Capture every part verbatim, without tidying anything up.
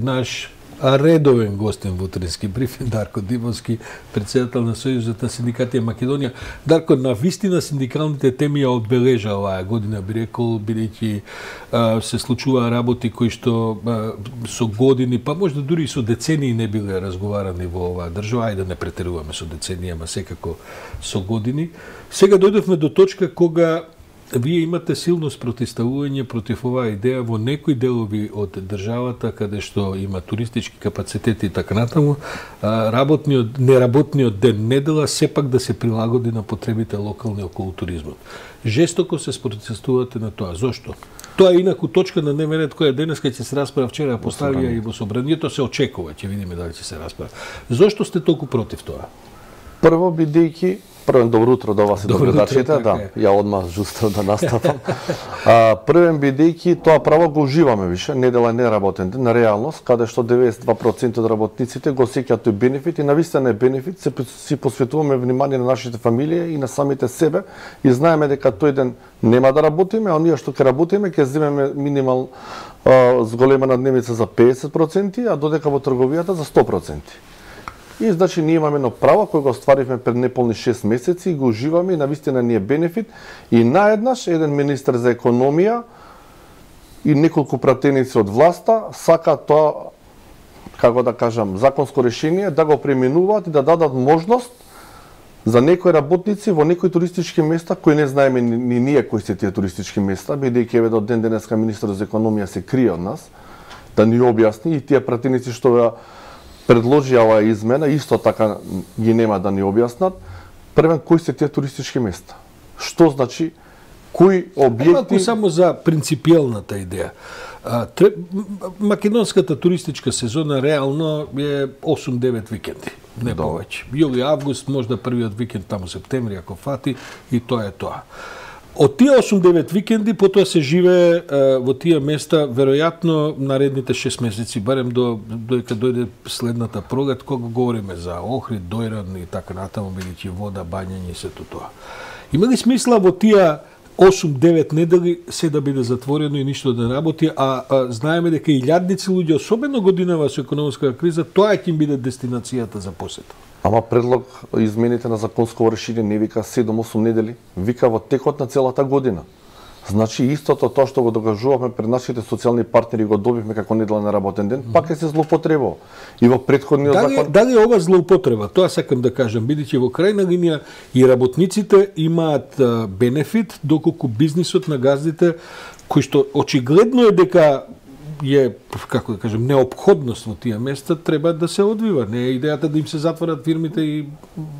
Наш редовен гостен во утрински брифинг, Дарко Димовски, председател на Сојузот на синдикати Македонија. Дарко, на вистина синдикалните теми ја одбележа оваа година, би рекол, бидејќи се случуваа работи кои што а, со години, па можда дури и со децении не биле разговарани во оваа држава, ајде да не претеруваме со децении, ама секако со години. Сега дојдовме до точка кога вие имате силно спротивставување против оваа идеја во некои делови од државата каде што има туристички капацитети и така натаму, работниот, неработниот ден недела сепак да се прилагоди на потребите локални околу туризмот. Жестоко се спротивставувате на тоа. Зошто? Тоа е инаку точка на дневен ред која денеска ќе се расправа, вчера поставија и во собранието, се очекува, ќе видиме дали ќе се расправа. Зошто сте толку против тоа? Прво, бидејќи Првен добро утро до вас и до гледачите, да, ја одмah жустро да настапам. А, првен бидејќи тоа право го уживаме више, недела е неработен ден, на реалност, каде што деветдесет и два проценти од работниците го сеќаат тој бенефит и навистина е бенефит, се си посветуваме внимание на нашите фамилии и на самите себе и знаеме дека тој ден нема да работиме, а оние што ќе работиме ќе земеме минимал а, зголемена дневница за педесет проценти, а додека во трговијата за сто проценти. И значи ние имаме едно право кој го остваривме пред неполни шест месеци и го уживаме и навистина ни е бенефит и наеднаш еден министер за економија и неколку пратеници од власта сака тоа, како да кажам, законско решение да го пременуваат и да дадат можност за некои работници во некои туристички места кои не знаеме ни, ни ние кои се тие туристички места, бидејќи еве до ден денеска министерот за економија се крие од нас да ни објасни и тие пратеници што ја предложи оваа измена, исто така ги нема да ни објаснат. Првен, кои се тие туристички места? Што значи, кои објекти... Малку само за принципиелната идеја. А, тре... Македонската туристичка сезона реално е осум-девет викенди, не повеќе. Јули, август, можда првиот викенд таму септември, ако фати, и тоа е тоа. Од тие осум-девет викенди, потоа се живее е, во тие места, веројатно наредните шест месеци, барем до доека дојде следната пролет, кога говориме за Охрид, Дојран и така натаму, бидејќи вода, бањање и сето тоа. Има ли смисла во тие осум-девет недели се да биде затворено и ништо да не работи, а, а знаеме дека илјадници луѓе, особено годинава со економска криза, тоа ќе им биде дестинацијата за посета? Ама предлог измените на законско решение не вика седум-осум недели, вика во текот на целата година. Значи истото тоа што го докажуваме пред нашите социјални партнери го добивме како недела на работен ден, пак е се злоупотребува. И во претходниот дали, закон... Дали ова злоупотреба? Тоа сакам да кажам, бидејќи во крајна линија и работниците имаат бенефит, доколку бизнисот на газдите, кој што очигледно е дека е, како да кажем, неопходност во тие места, треба да се одвива. Не е идејата да им се затворат фирмите и...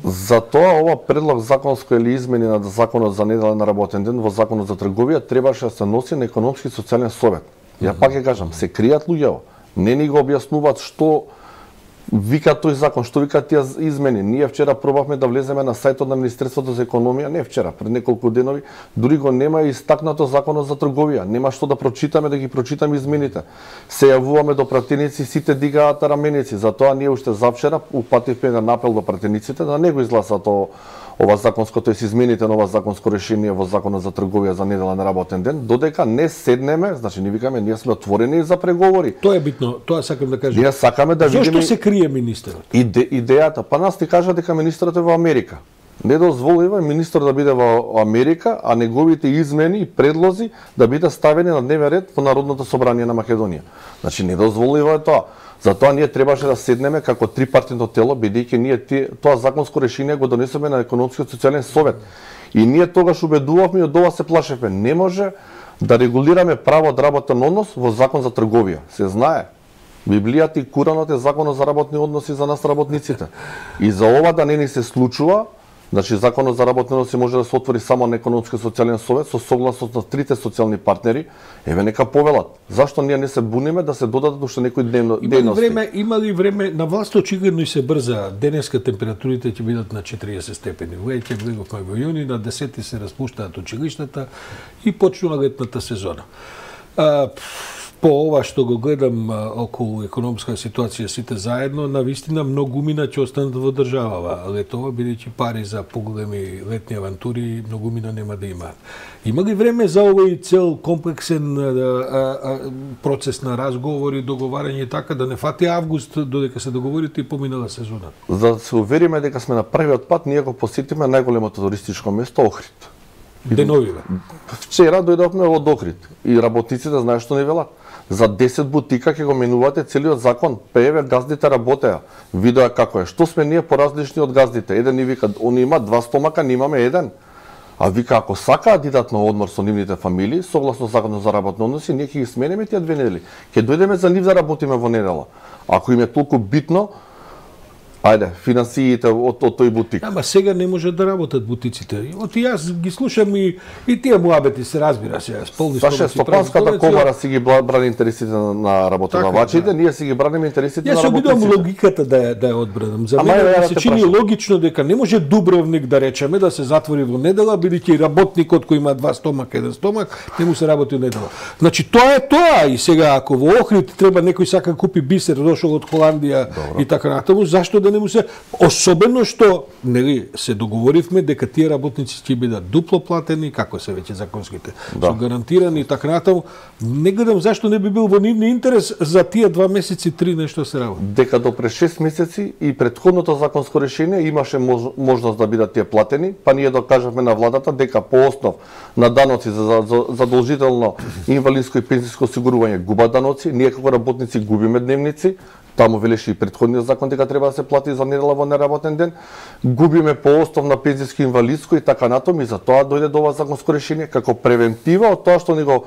Затоа ова предлог законско или измени на законот за неделен работен ден во законот за трговија требаше да се носи на економски и социјален совет. Ја пак ќе кажам, се кријат луѓето. Не ни го објаснуваат што вика тој закон, што вика тие измени. Ние вчера пробавме да влеземе на сајтот на Министерството за економија, не вчера, пред неколку денови, дури го нема истакнато законот за трговија. Нема што да прочитаме, да ги прочитаме измените. Се јавуваме до пратеници, сите дигаат раменици. Затоа ние уште завчера упативме еден апел до пратениците да не го изгласат ова законско, тоест измените на ова законско решение во законот за трговија за неделен работен ден, додека не седнеме, значи ни викаме, ние сме отворени за преговори. Тоа е битно, тоа сакам да кажам. Ние сакаме да видиме... Зошто се крие министерот? Иде, идејата, па нас ти кажа дека министерот е во Америка. Не дозволува министер да биде во Америка, а неговите измени и предлози да бидат ставени на дневен ред во Народното собрание на Македонија. Значи не дозволува тоа. Затоа ние требаше да седнеме како трипартитно тело, бидејќи ние тоа законско решение го донесеме на економскиот социјален совет. И ние тогаш убедувавме и од ова се плашевме. Не може да регулираме право од работен однос во закон за трговија. Се знае. Библијата и Куранот е законот за работни односи за нас работниците. И за ова да не ни се случува, значи законот за работни односи може да се отвори само на економски и социјален совет со согласност на трите социјални партнери, еве нека повелат. Зашто ние не се буниме да се додадат уште некои дневно дејности? Време, има ли време на власт очигледно и се брза. Денеска температурите ќе бидат на четириесет степени. Веќе влеговме во јуни, на десети се распуштаат училиштата и почнува летната сезона. А, по ова што го гледам а, околу економска ситуација сите заедно, навистина многумина ќе останат во државава. Летова, бидејќи пари за поголеми летни авантури, многумина нема да имаат. Има ли време за овој цел комплексен а, а, процес на разговори, договарање така, да не фати август додека се договорите и поминала сезона? За да се увериме дека сме на првиот пат, ние го посетиме најголемото туристичко место Охрид. Деновиве. Вчера дојдовме од Охрид и работниците знаат што не велат. За десет бутика ќе го менувате целиот закон. Пееве газдите работеа. Видоа како е. Што сме ние поразлични од газдите? Еден ни вика, они имаат два стомака, ние имаме еден. А вика, ако сакаат да идат на одмор со нивните фамилии, согласно законот за работни односи, ние ќе ги сменеме тие две недели. Ќе дојдеме за нив да работиме во недела. Ако им е толку битно, ајде, финансиите од, од тој бутик. Ама сега не можат да работат бутиците. Оти јас ги слушам и, и тие муабети се разбира се. Полни Саше, Стопанската комора си ги брани интересите на, на работодавачите, така, да. Ние си ги браниме интересите јас на работниците. Јас се обидувам логиката да ја, да ја одбранам. За мене ми се чини прашам. Логично дека не може Дубровник да речеме да се затвори во недела, бидејќи работникот кој има два стомака, еден стомак, не му се работи во недела. Значи тоа е тоа и сега ако во Охрид треба некој сака купи бисер, дошол од Холандија Добро. И така натаму, зашто да не му се, особено што нели се договоривме дека тие работници ќе бидат дупло платени, како се веќе законските, да. Со гарантирани и така натаму. Не гледам зашто не би бил во нивни интерес за тие два месеци, три нешто се работи. Дека до пред шест месеци и претходното законско решение имаше мож, можност да бидат тие платени, па ние докажавме на владата дека по основ на даноци за, за, за задолжително инвалидско и пензиско осигурување губат даноци, ние како работници губиме дневници. Таму велеше и претходниот закон дека треба да се плати за недела во неработен ден. Губиме по основ на пензиско инвалидско и така натаму и за тоа дојде до ова законско решение како превентива од тоа што ни го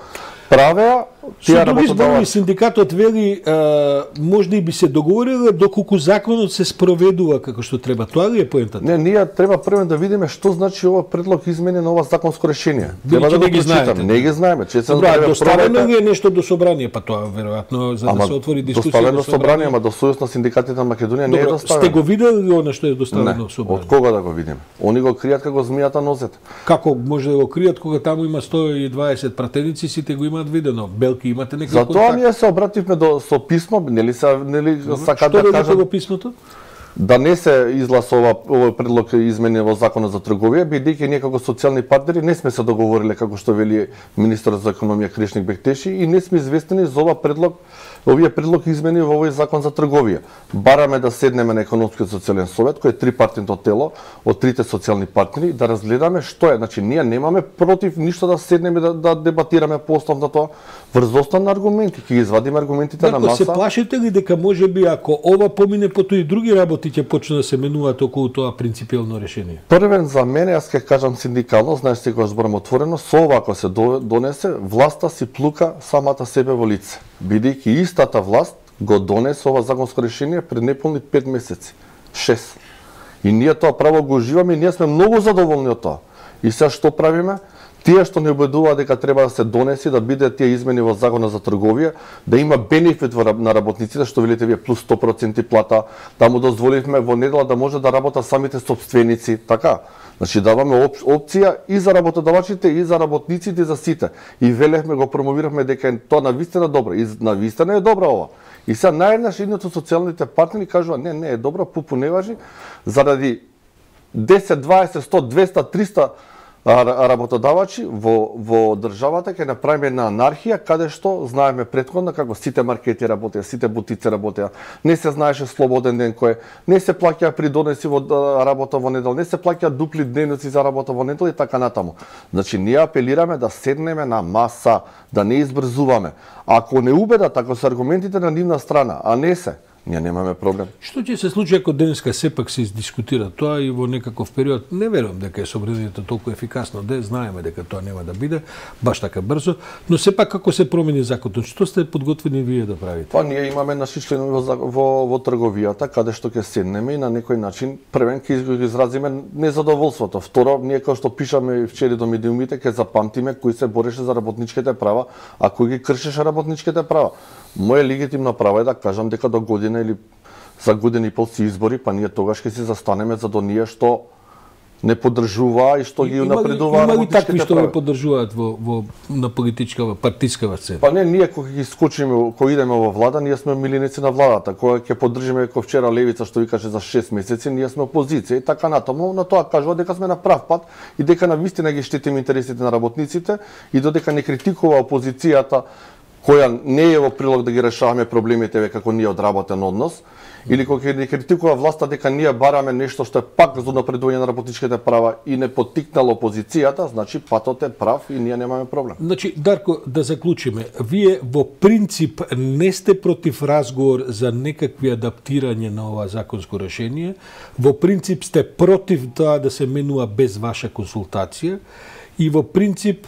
правеа тие работодавачи. Синдикатот вели а, можда и би се договориле доколку законот се спроведува како што треба. Тоа ли е поентата? Не, ние треба прво да видиме што значи ова предлог измени на ова законско решение. Треба да го прочитаме. Не ги знаеме. Че се Добра, доставено ли е нешто до собрание, па тоа веројатно за да се отвори дискусија. Доставено собрание, ама до Сојуз на синдикатите на Македонија не е доставено. Сте го видели ли она што е доставено не. собрание? Од кога да го видиме? Они го кријат како змијата нозет. Како може да го кријат кога таму има сто и дваесет пратеници, сите го имаат видено. Белки имате некој контакт? Затоа ние се обративме до со писмо, нели се нели сакаат да кажат во писмото? Да не се изгласува овој предлог измени во законот за трговија, бидејќи ние како социјални партнери не сме се договориле како што вели министерот за економија Кришник Бектеши и не сме известени за ова предлог, овие предлог измени во овој закон за трговија. Бараме да седнеме на економскиот социјален совет, кој е трипартитно тело од трите социјални партнери, да разгледаме што е. Значи ние немаме против ништо да седнеме да, да дебатираме по основ на тоа врз основа на аргументи, ќе ги извадиме аргументите Дако, на маса. Се плашите ли дека можеби ако ова помине потоа и други работи ќе почне да се менуваат околу тоа принципиелно решение? Првен за мене, јас ќе кажам синдикално, знаеш секој зборам отворено, со ова ако се донесе, власта си плука самата себе во лице. Бидејќи истата власт го донесе ова законско решение пред неполни пет месеци. шест. И ние тоа право го уживаме и ние сме многу задоволни од тоа. И сега што правиме? Тие што не убедуваат дека треба да се донеси, да биде тие измени во законот за трговија, да има бенефит на работниците, што велите вие плюс сто проценти плата, да му дозволивме во недела да може да работат самите собственици, така. Значи даваме оп, опција и за работодавачите, и за работниците, и за сите. И велевме, го промовиравме дека е тоа навистина добро. И навистина е добра ова. И сега наједнаш едниот од социјалните партнери кажува, не, не е добра, пупу не важи, заради десет, дваесет, сто, двеста, триста работодавачи во во државата ќе направиме една анархија каде што знаеме претходно како сите маркети работеа, сите бутици работеа, не се знаеше слободен ден кој, не се плаќа придонеси во работа во недела, не се плаќа дупли дневници за работа во недела и така натаму. Значи ние апелираме да седнеме на маса, да не избрзуваме. Ако не убедат, ако се аргументите на нивна страна, а не се, ние немаме проблем. Што ќе се случи ако денеска сепак се издискутира тоа и во некаков период? Не верувам дека е собранието толку ефикасно, де знаеме дека тоа нема да биде баш така брзо, но сепак како се промени законот, што сте подготвени вие да правите? Па ние имаме наши членови во, во во трговијата каде што ќе седнеме и на некој начин првен ќе изразиме незадоволството. Второ, ние како што пишаме вчера до медиумите ќе запамтиме кој се бореше за работничките права, а кој ги кршеше работничките права. Моја легитимна права е да кажам дека до година или за година и пол си избори, па ние тогаш ќе се застанеме за до ние што не поддржуваа и што ги унапредуваа работничките права. Има ли такви што права? ги поддржуваат во, во на политичка, партискава сцена? Па не, ние кога ги скочиме, кога идеме во влада, ние сме милиници на владата. Кога ќе поддржиме како вчера левица што ви каже за шест месеци, ние сме опозиција и така натаму, на тоа кажува дека сме на прав пат и дека навистина ги штитиме интересите на работниците и додека не критикува опозицијата која не е во прилог да ги решаваме проблемите како ние одработен однос, или кога не критикува власта дека ние бараме нешто што е пак за напредување на работничките права и не поттикнало опозицијата, значи патот е прав и ние немаме проблем. Значи, Дарко, да заклучиме, вие во принцип не сте против разговор за некакви адаптирање на ова законско решение, во принцип сте против тоа да се менува без ваша консултација и во принцип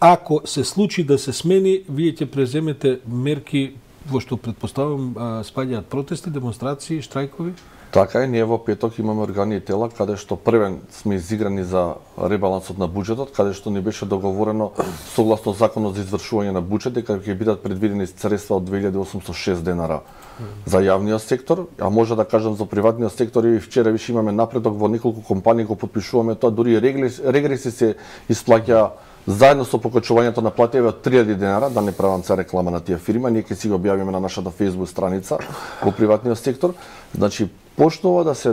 ако се случи да се смени, вие ќе преземете мерки во што предпоставам спаѓаат протести, демонстрации, штрајкови? Така е, ние во петок имаме органи и тела каде што првен сме изиграни за ребалансот на буџетот, каде што ни беше договорено согласно законот за извршување на буџет дека ќе бидат предвидени средства од две илјади осумстотини и шест денара за јавниот сектор, а може да кажам за приватниот сектор и вчера више имаме напредок во неколку компании го потпишуваме тоа, дури регреси се исплаќа заедно со покачувањето на платеви од три илјади денара, да не правам се реклама на тие фирма, ние ќе си го објавиме на нашата Facebook страница во приватниот сектор. Значи, почнува да се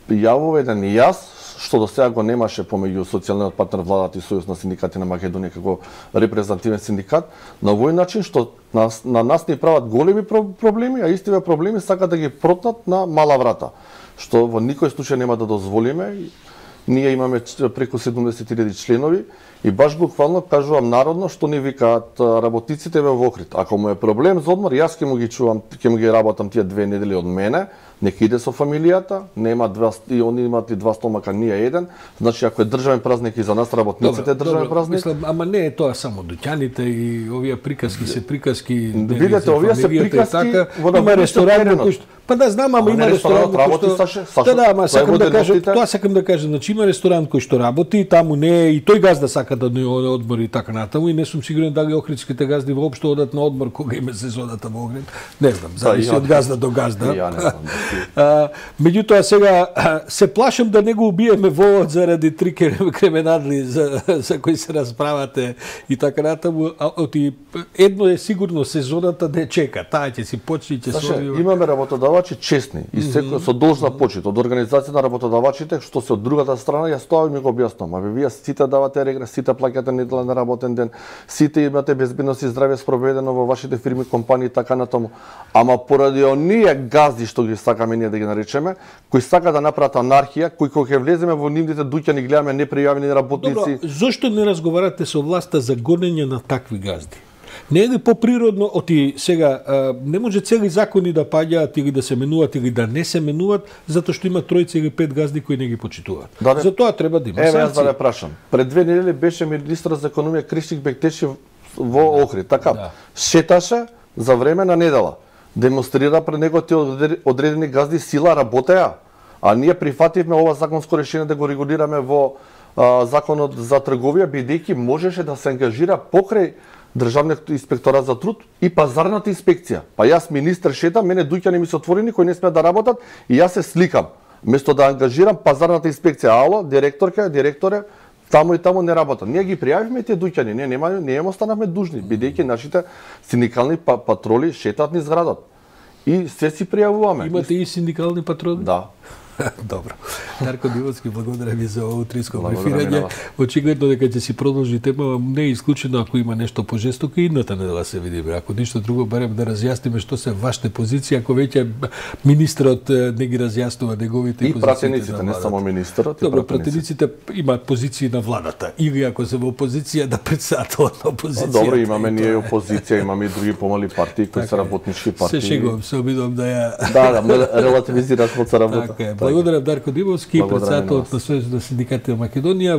јавува еден јас, што до сега го немаше помеѓу социјалниот партнер владата и Сојуз на синдикати на Македонија како репрезентативен синдикат, на овој начин што нас, на нас ни прават големи проблеми, а истиве проблеми сакат да ги протнат на мала врата, што во никој случај нема да дозволиме. Ние имаме преку седумдесет илјади членови и баш буквално кажувам народно што ни викаат работниците во Охрид. Ако му е проблем за одмор, јас ќе му ги чувам, ќе му ги работам тие две недели од мене, нека иде со фамилијата, нема два и они имаат и два стомака, ние еден. Значи ако е државен празник и за нас работниците е државен празник. Мислам, ама не е тоа само дуќаните и овие приказки се приказки. Видете, овие се приказки така, има ресторан кој што па да знам, ама има ресторан кој што Да, да, ама сакам да кажам, тоа сакам да кажам, значи има ресторан кој што работи, таму не е и тој газда сака да не одмори и така натаму и не сум сигурен дали охридските газди воопшто одат на одмор кога име сезоната во Охрид. Не знам, зависи од газда до газда. Ја не знам. А, меѓутоа сега се плашам да не го убиеме вовод заради три кременадли за, за кои се расправате и така натаму. Оти едно е сигурно сезоната да чека, таа ќе си почне ќе се имаме работодавачи честни и секој со должна почит од организација на работодавачите што се од другата страна јас тоа ми го објаснувам. Абе вие сите давате регрес, сите плаќате неделен работен ден, сите имате безбедност и здравје спроведено во вашите фирми, компании и така натаму. Ама поради оние газди што ги сакаме ние да ги наречеме, кои сака да направат анархија, кои кога ќе влеземе во нивните дуќани гледаме непријавени работници. Добро, зошто не разговарате со власта за гонење на такви газди? Не е ли поприродно, оти сега, а, не може цели закони да паѓаат или да се менуваат или да не се менуваат, затоа што има тројца или пет газди кои не ги почитуваат. Да, затоа треба да има санкции. Еве, јас да ве прашам. Пред две недели беше министрот за економија Кришик Бектеши во Охрид, така? Да. Шеташе за време на недела. Демонстрира пред него тие одредени газди сила работеа, а ние прифативме ова законско решение да го регулираме во а, законот за трговија, бидејќи можеше да се ангажира покрај Државниот инспекторат за труд и пазарната инспекција. Па јас министер шетам, мене дуќани ми се отворени кои не смеат да работат и јас се сликам. Место да ангажирам пазарната инспекција, ало, директорка, директоре, таму и таму не работат. Ние ги пријавивме тие дуќани, ние нема не им останавме дужни, бидејќи нашите синдикални патроли шетаат низ градот. И се си пријавуваме. Имате и синдикални патроли? Да. Добро. Дарко Дивоцки, благодарам ви за утринско брифирање. Очигледно дека ќе си продолжи тема, не е исклучено ако има нешто пожестоко и идната недела се видиме. Ако ништо друго барем да разјасниме што се вашите позиции, ако веќе министрот не ги разјаснува неговите и позиции. И пратениците, не само министрот, и Добро, пратениците имаат позиции на владата или ако се во опозиција да председателот на опозиција. Добро, имаме ние опозиција, имаме и други помали партии кои се работнички партии. Се шегувам, се обидувам да ја Да, да, релативизираш моца работа. Благодарам Дарко Дивоцки, председателот на Сојузот на синдикатите на Македонија.